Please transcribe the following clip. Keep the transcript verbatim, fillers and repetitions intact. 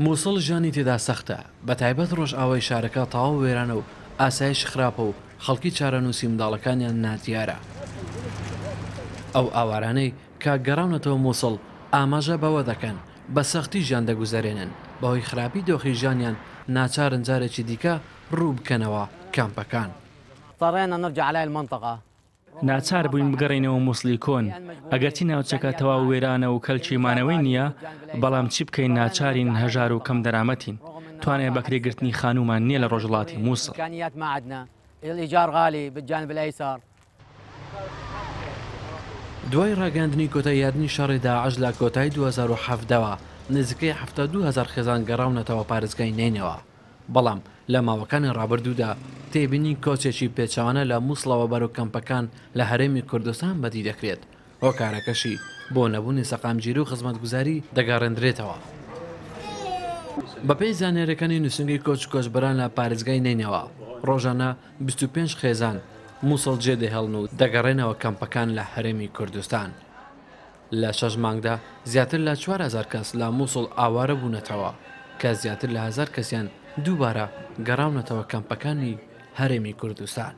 موسڵ ژیانی تێدا سەختە، بەتایبەت ڕۆژئاوای شارەکە تەواو وێرانە و ئاسایش خراپە و خەڵکی چارەنووسی منداڵەکانیان نادیارە. ئەو ئاوارانەی کە گەڕاونەتەوە موسڵ ئاماژە بەوە دەکەن بە سەختی ژیان دەگوزەرێنن، بەهۆی خراپی دۆخی ژیانیان ناچارن جارێکی دیکە ڕوو بکەنەوە کامپەکان. ناچار بووین بگەڕێینەوە موسڵی کۆن، ئەگەرچی ناوچەکە تەواو وێرانە و کەلکی مانەوەی نییە، بەڵام چی بکەین ناچارین، هەژار و کەم دەرامەتین، توانای بەکرێگرتنی خانوومان نییە لە ڕۆژهەڵاتی موسڵ. دوای ڕاگەیاندنی کۆتاییهاتنی شەڕی داعش لە کۆتایی دوو هەزار و حەڤدە وە، نزیکەی حەفتا و دوو هەزار خێزان گەڕاونەتەوە پارێزگای نەینەوا، بەڵام لە ماوەکانی ڕابردوودا تێبینی کۆچێکی پێچەوانە لە موسڵەوە بەرەو کەمپەکان لە هەرێمی کوردستان بەدی دەکرێت، هۆکارەکەشی بۆ نەبوونی سەقامگیری و خزمەتگوزاری دەگەڕێندرێتەوە. بەپێی زانیاریەکانی نووسینگەی کۆچ و کۆچبەران لە پارێزگای نەینەوا، ڕۆژانە بیست و پێنج خێزان موسڵ جێدەهێڵن و دەگەڕێنەوە کەمپەکان لە هەرێمی کوردستان. لە شەش مانگدا زیاتر لە چوار هەزار کەس لە موسڵ ئاوارە بوونەتەوە کە زیاتر لە هەزار کەسیان دووبارە گەڕاونەتەوە کەمپەکانی هەرێمی کوردستان.